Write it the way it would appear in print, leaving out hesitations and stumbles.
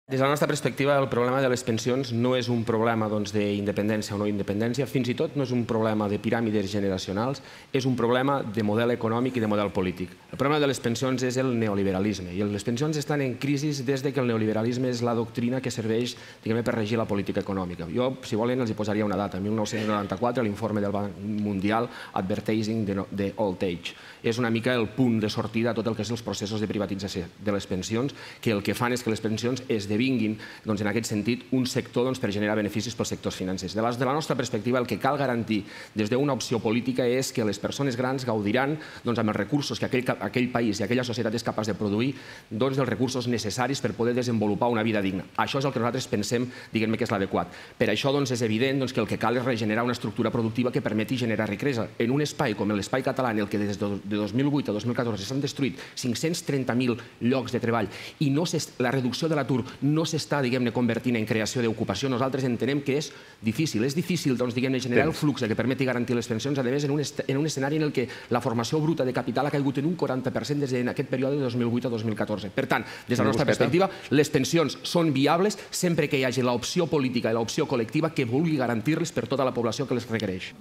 Des de la nostra perspectiva, el problema de les pensions no és un problema d'independència o no independència, fins i tot no és un problema de piràmides generacionals, és un problema de model econòmic i de model polític. El problema de les pensions és el neoliberalisme, i les pensions estan en crisi des que el neoliberalisme és la doctrina que serveix per regir la política econòmica. Jo, si volen, els posaria una data. En 1994, l'informe del Banc Mundial Advertising the Old Age. És una mica el punt de sortida a tot el que són els processos de privatització de les pensions, que el que fan és que les pensions esdevinguin, en aquest sentit, un sector per generar beneficis pels sectors financers. Des de la nostra perspectiva, el que cal garantir des d'una opció política és que les persones grans gaudiran, amb els recursos que aquell país i aquella societat és capaç de produir, dels recursos necessaris per poder desenvolupar una vida digna. Això és el que nosaltres pensem que és l'adequat. Per això és evident que el que cal és regenerar una estructura productiva que permeti generar riquesa. En un espai com l'espai català, en el que des de 2008 a 2014 s'han destruït 530.000 llocs de treball i la reducció de l'atur no s'està convertint en creació d'ocupació, nosaltres entenem que és difícil. És difícil generar el flux que permeti garantir les pensions, a més, en un escenari en què la formació bruta de capital ha caigut en un 40% des d'aquest període de 2008 a 2014. Per tant, des de la nostra perspectiva, les pensions són viables sempre que hi hagi l'opció política i l'opció col·lectiva que vulgui garantir-les per tota la població que les requereix.